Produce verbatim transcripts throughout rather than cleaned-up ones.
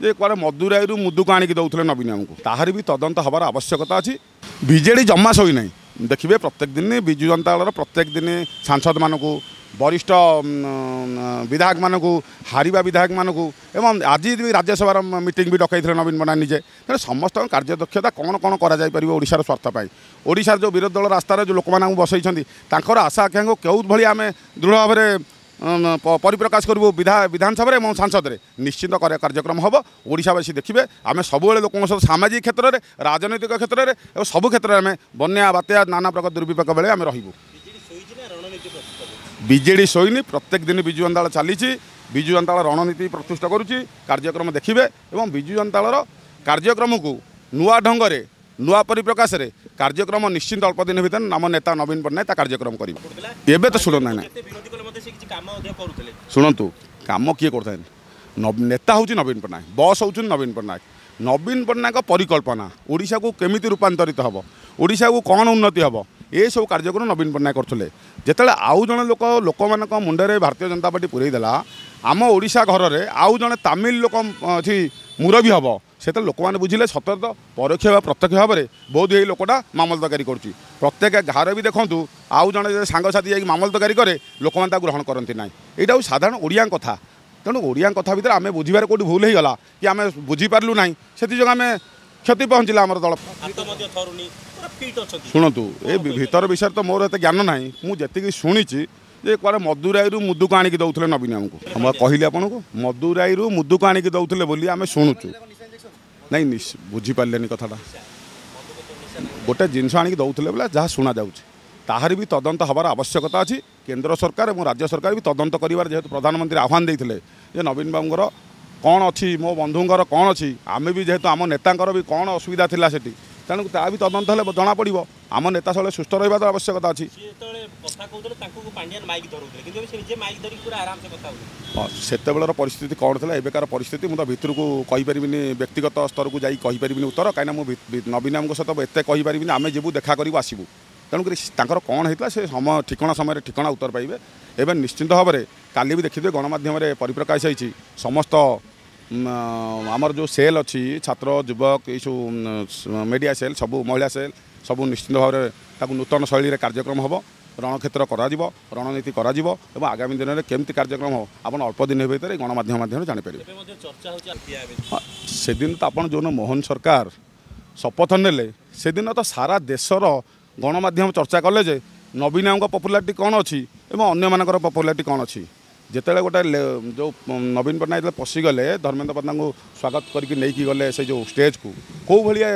ଯେ କୁଆଡ଼େ ମଦୁରାଇରୁ ମୁଦୁକୁ ଆଣିକି ଦେଉଥିଲେ ନବୀନ ଆମକୁ, ତାହାର ବି ତଦନ୍ତ ହେବାର ଆବଶ୍ୟକତା ଅଛି। ବିଜେଡ଼ି ଜମା ଶୋଇନାହିଁ। ଦେଖିବେ ପ୍ରତ୍ୟେକ ଦିନ ବିଜୁ ଜନତା ଦଳର ପ୍ରତ୍ୟେକ ଦିନ ସାଂସଦମାନଙ୍କୁ, ବରିଷ୍ଠ ବିଧାୟକମାନଙ୍କୁ, ହାରିବା ବିଧାୟକମାନଙ୍କୁ ଏବଂ ଆଜି ବି ରାଜ୍ୟସଭାର ମିଟିଂ ବି ଡକାଇଥିଲେ ନବୀନ ପଟ୍ଟନାୟକ ନିଜେ। ତେଣୁ ସମସ୍ତଙ୍କ କାର୍ଯ୍ୟଦକ୍ଷତା କ'ଣ କ'ଣ କରାଯାଇପାରିବ ଓଡ଼ିଶାର ସ୍ୱାର୍ଥ ପାଇଁ, ଓଡ଼ିଶାର ଯେଉଁ ବିରୋଧୀ ଦଳ ରାସ୍ତାରେ ଯେଉଁ ଲୋକମାନଙ୍କୁ ବସେଇଛନ୍ତି ତାଙ୍କର ଆଶା ଆକାଂକ୍ଷାକୁ କେଉଁ ଭଳି ଆମେ ଦୃଢ଼ ଭାବରେ ପରିପ୍ରକାଶ କରିବୁ ବିଧା ବିଧାନସଭାରେ ଏବଂ ସାଂସଦରେ ନିଶ୍ଚିତ କାର୍ଯ୍ୟକ୍ରମ ହେବ। ଓଡ଼ିଶାବାସୀ ଦେଖିବେ ଆମେ ସବୁବେଳେ ଲୋକଙ୍କ ସହିତ ସାମାଜିକ କ୍ଷେତ୍ରରେ, ରାଜନୈତିକ କ୍ଷେତ୍ରରେ ଏବଂ ସବୁ କ୍ଷେତ୍ରରେ ଆମେ ବନ୍ୟା, ବାତ୍ୟା, ନାନା ପ୍ରକାର ଦୁର୍ବିପାକ ବେଳେ ଆମେ ରହିବୁ। ବିଜେଡ଼ି ଶୋଇନି, ପ୍ରତ୍ୟେକ ଦିନ ବିଜୁ ଜନତା ଦଳ ଚାଲିଛି, ବିଜୁ ଜନତା ଦଳ ରଣନୀତି ପ୍ରତିଷ୍ଠା କରୁଛି, କାର୍ଯ୍ୟକ୍ରମ ଦେଖିବେ ଏବଂ ବିଜୁ ଜନତା ଦଳର କାର୍ଯ୍ୟକ୍ରମକୁ ନୂଆ ଢଙ୍ଗରେ ନୂଆ ପରିପ୍ରକାଶରେ କାର୍ଯ୍ୟକ୍ରମ ନିଶ୍ଚିନ୍ତ ଅଳ୍ପ ଦିନ ଭିତରେ ଆମ ନେତା ନବୀନ ପଟ୍ଟନାୟକ ତା କାର୍ଯ୍ୟକ୍ରମ କରିବ। ଏବେ ତ ଶୁଣ ନାହିଁ, ଶୁଣନ୍ତୁ କାମ କିଏ କରୁଥାଏ, ନେତା ହେଉଛି ନବୀନ ପଟ୍ଟନାୟକ, ବସ୍ ହେଉଛନ୍ତି ନବୀନ ପଟ୍ଟନାୟକ। ନବୀନ ପଟ୍ଟନାୟକ ପରିକଳ୍ପନା ଓଡ଼ିଶାକୁ କେମିତି ରୂପାନ୍ତରିତ ହେବ, ଓଡ଼ିଶାକୁ କ'ଣ ଉନ୍ନତି ହେବ, ଏସବୁ କାର୍ଯ୍ୟକ୍ରମ ନବୀନ ପଟ୍ଟନାୟକ କରୁଥିଲେ। ଯେତେବେଳେ ଆଉ ଜଣେ ଲୋକ ଲୋକମାନଙ୍କ ମୁଣ୍ଡରେ ଭାରତୀୟ ଜନତା ପାର୍ଟି ପୁରେଇ ଦେଲା, ଆମ ଓଡ଼ିଶା ଘରରେ ଆଉ ଜଣେ ତାମିଲ ଲୋକ ଏଠି ମୁରବୀ ହେବ, ସେତେବେଳେ ଲୋକମାନେ ବୁଝିଲେ ସତରେ ତ ପରୋକ୍ଷ ବା ପ୍ରତ୍ୟକ୍ଷ ଭାବରେ ବହୁତ ଏଇ ଲୋକଟା ମାମଲତକାରୀ କରୁଛି। ପ୍ରତ୍ୟେକ ଘରେ ବି ଦେଖନ୍ତୁ ଆଉ ଜଣେ ସାଙ୍ଗସାଥି ଯାଇକି ମାମଲତକାରୀ କରେ, ଲୋକମାନେ ତାକୁ ଗ୍ରହଣ କରନ୍ତି ନାହିଁ। ଏଇଟା ହେଉଛି ସାଧାରଣ ଓଡ଼ିଆଙ୍କ କଥା। ତେଣୁ ଓଡ଼ିଆଙ୍କ କଥା ଭିତରେ ଆମେ ବୁଝିବାରେ କେଉଁଠି ଭୁଲ ହେଇଗଲା କି ଆମେ ବୁଝିପାରିଲୁ ନାହିଁ, ସେଥିଯୋଗୁଁ ଆମେ କ୍ଷତି ପହଞ୍ଚିଲା ଆମର ଦଳ। ଶୁଣନ୍ତୁ ଏ ଭିତର ବିଷୟରେ ତ ମୋର ଏତେ ଜ୍ଞାନ ନାହିଁ, ମୁଁ ଯେତିକି ଶୁଣିଛି ଯେ କୁଆଡ଼େ ମଦୁରାଇରୁ ମୁଦୁକୁ ଆଣିକି ଦେଉଥିଲେ ନବୀନ ଆମକୁ। ମୁଁ କହିଲି ଆପଣଙ୍କୁ ମଦୁରାଇରୁ ମୁଦୁକୁ ଆଣିକି ଦେଉଥିଲେ ବୋଲି ଆମେ ଶୁଣୁଛୁ। ନାଇଁ ବୁଝିପାରିଲେନି କଥାଟା, ଗୋଟେ ଜିନିଷ ଆଣିକି ଦେଉଥିଲେ ବୋଲେ ଯାହା ଶୁଣାଯାଉଛି ତାହାର ବି ତଦନ୍ତ ହେବାର ଆବଶ୍ୟକତା ଅଛି। କେନ୍ଦ୍ର ସରକାର ଏବଂ ରାଜ୍ୟ ସରକାର ବି ତଦନ୍ତ କରିବାର ଯେହେତୁ ପ୍ରଧାନମନ୍ତ୍ରୀ ଆହ୍ୱାନ ଦେଇଥିଲେ ଯେ ନବୀନ ବାବୁଙ୍କର କ'ଣ ଅଛି, ମୋ ବନ୍ଧୁଙ୍କର କ'ଣ ଅଛି, ଆମେ ବି ଯେହେତୁ ଆମ ନେତାଙ୍କର ବି କ'ଣ ଅସୁବିଧା ଥିଲା ସେଠି, ତେଣୁ ତା ବି ତଦନ୍ତ ହେଲେ ଜଣାପଡ଼ିବ। ଆମ ନେତା ସବୁବେଳେ ସୁସ୍ଥ ରହିବାର ଆବଶ୍ୟକତା ଅଛି। ହଁ, ସେତେବେଳର ପରିସ୍ଥିତି କ'ଣ ଥିଲା, ଏବେକାର ପରିସ୍ଥିତି ମୁଁ ତ ଭିତରକୁ କହିପାରିବିନି, ବ୍ୟକ୍ତିଗତ ସ୍ତରକୁ ଯାଇ କହିପାରିବିନି ଉତ୍ତର, କାହିଁକିନା ମୁଁ ନବୀନ ବାବୁଙ୍କ ସହିତ ଏତେ କହିପାରିବିନି। ଆମେ ଯିବୁ, ଦେଖା କରିବୁ, ଆସିବୁ। ତେଣୁକରି ତାଙ୍କର କ'ଣ ହେଇଥିଲା ସେ ସମୟ ଠିକଣା ସମୟରେ ଠିକଣା ଉତ୍ତର ପାଇବେ। ଏବେ ନିଶ୍ଚିନ୍ତ ଭାବରେ କାଲି ବି ଦେଖିଥିବେ ଗଣମାଧ୍ୟମରେ ପରିପ୍ରକାଶ ହେଇଛି ସମସ୍ତ ଆମର ଯେଉଁ ସେଲ୍ ଅଛି, ଛାତ୍ର, ଯୁବକ, ଏଇସବୁ ମିଡ଼ିଆ ସେଲ୍, ସବୁ ମହିଳା ସେଲ୍, ସବୁ ନିଶ୍ଚିନ୍ତ ଭାବରେ ତାକୁ ନୂତନ ଶୈଳୀରେ କାର୍ଯ୍ୟକ୍ରମ ହେବ, ରଣକ୍ଷେତ୍ର କରାଯିବ, ରଣନୀତି କରାଯିବ ଏବଂ ଆଗାମୀ ଦିନରେ କେମିତି କାର୍ଯ୍ୟକ୍ରମ ହେବ ଆପଣ ଅଳ୍ପ ଦିନ ଭିତରେ ଗଣମାଧ୍ୟମ ମାଧ୍ୟମରେ ଜାଣିପାରିବେ। ହଁ, ସେଦିନ ତ ଆପଣ ଯେଉଁଦିନ ମୋହନ ସରକାର ଶପଥ ନେଲେ ସେଦିନ ତ ସାରା ଦେଶର ଗଣମାଧ୍ୟମ ଚର୍ଚ୍ଚା କଲେ ଯେ ନବୀନ ବାବୁଙ୍କ ପପୁଲାରିଟି କ'ଣ ଅଛି ଏବଂ ଅନ୍ୟମାନଙ୍କର ପପୁଲାରିଟି କ'ଣ ଅଛି। ଯେତେବେଳେ ଗୋଟେ ଯେଉଁ ନବୀନ ପଟ୍ଟନାୟକ ଯେତେବେଳେ ପଶିଗଲେ, ଧର୍ମେନ୍ଦ୍ର ପ୍ରଧାନଙ୍କୁ ସ୍ୱାଗତ କରିକି ନେଇକି ଗଲେ ସେ ଯେଉଁ ଷ୍ଟେଜ୍କୁ, କେଉଁ ଭଳିଆ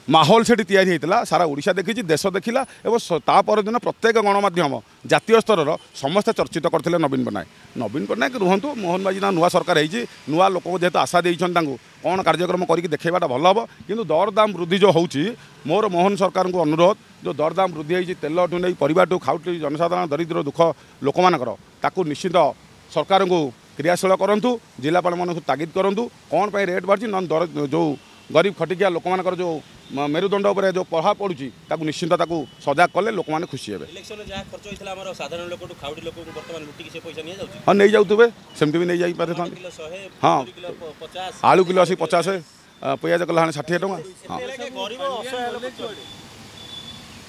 ମାହୋଲ ସେଠି ତିଆରି ହେଇଥିଲା ସାରା ଓଡ଼ିଶା ଦେଖିଛି, ଦେଶ ଦେଖିଲା ଏବଂ ତା ପରଦିନ ପ୍ରତ୍ୟେକ ଗଣମାଧ୍ୟମ ଜାତୀୟ ସ୍ତରର ସମସ୍ତେ ଚର୍ଚ୍ଚିତ କରିଥିଲେ ନବୀନ ପଟ୍ଟନାୟକ। ନବୀନ ପଟ୍ଟନାୟକ ରୁହନ୍ତୁ, ମୋହନ ମାଝୀ ନା ନୂଆ ସରକାର ହେଇଛି, ନୂଆ ଲୋକଙ୍କୁ ଯେହେତୁ ଆଶା ଦେଇଛନ୍ତି ତାଙ୍କୁ କ'ଣ କାର୍ଯ୍ୟକ୍ରମ କରିକି ଦେଖେଇବାଟା ଭଲ ହେବ। କିନ୍ତୁ ଦରଦାମ ବୃଦ୍ଧି ଯେଉଁ ହେଉଛି, ମୋର ମୋହନ ସରକାରଙ୍କୁ ଅନୁରୋଧ, ଯେଉଁ ଦରଦାମ ବୃଦ୍ଧି ହେଇଛି ତେଲଠୁ ନେଇ ପରିବାଠୁ ଖାଉଟି ଜନସାଧାରଣ ଦରିଦ୍ର ଦୁଃଖ ଲୋକମାନଙ୍କର, ତାକୁ ନିଶ୍ଚିତ ସରକାରଙ୍କୁ କ୍ରିୟାଶୀଳ କରନ୍ତୁ, ଜିଲ୍ଲାପାଳମାନଙ୍କୁ ତାଗିଦ କରନ୍ତୁ କ'ଣ ପାଇଁ ରେଟ୍ ବଢ଼ିଛି, ନହେଲେ ଦର ଯେଉଁ ଗରିବ ଖଟିକିଆ ଲୋକମାନଙ୍କର ଯେଉଁ ମେରୁଦଣ୍ଡ ଉପରେ ଯେଉଁ ପ୍ରଭାବ ପଡ଼ୁଛି ତାକୁ ନିଶ୍ଚିନ୍ତ ତାକୁ ସଜାଗ କଲେ ଲୋକମାନେ ଖୁସି ହେବେ। ହଁ, ନେଇଯାଉଥିବେ, ସେମିତି ବି ନେଇଯାଇପାରିଥାନ୍ତି। ହଁ, ଆଳୁ କିଲୋ ଆସି ପଚାଶ, ପିଆଜ କିଲୋ ହେଲାଣି ଷାଠିଏ ଟଙ୍କା। ହଁ,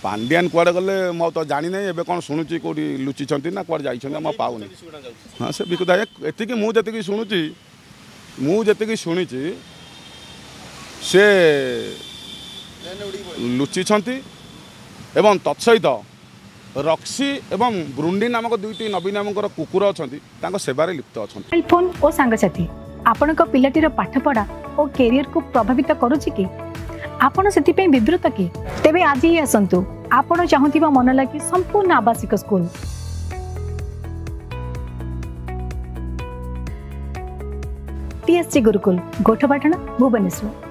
ପାଣ୍ଡିଆନ କୁଆଡ଼େ ଗଲେ ମୁଁ ତ ଜାଣିନାହିଁ, ଏବେ କ'ଣ ଶୁଣୁଛି କେଉଁଠି ଲୁଚିଛନ୍ତି ନା କୁଆଡ଼େ ଯାଇଛନ୍ତି ମୁଁ ପାଉନି। ହଁ, ସେ ବିକୁଦା ଏତିକି ମୁଁ ଯେତିକି ଶୁଣୁଛି, ମୁଁ ଯେତିକି ଶୁଣିଛି ସେ ଲୁଚିଛନ୍ତି ଏବଂ ତତ୍ସହିତ ରକ୍ସି ଏବଂ ବୃଣ୍ଡି ନାମକ ଦୁଇଟି ନବୀନ ବାବୁଙ୍କର କୁକୁର ଅଛନ୍ତି, ତାଙ୍କ ସେବାରେ ଲିପ୍ତ ଅଛନ୍ତି। ମୋବାଇଲ ଫୋନ୍ ଓ ସାଙ୍ଗସାଥି ଆପଣଙ୍କ ପିଲାଟିର ପାଠପଢ଼ା ଓ କ୍ୟାରିୟରକୁ ପ୍ରଭାବିତ କରୁଛି କି? ଆପଣ ସେଥିପାଇଁ ବିବ୍ରତ କି? ତେବେ ଆଜି ହିଁ ଆସନ୍ତୁ ଆପଣ ଚାହୁଁଥିବା ମନ ଲାଗି ସମ୍ପୂର୍ଣ୍ଣ ଆବାସିକ ସ୍କୁଲ। ଟିଏସଜି ଗୁରୁକୁଲ, ଗୋଠପାଟଣା, ଭୁବନେଶ୍ୱର।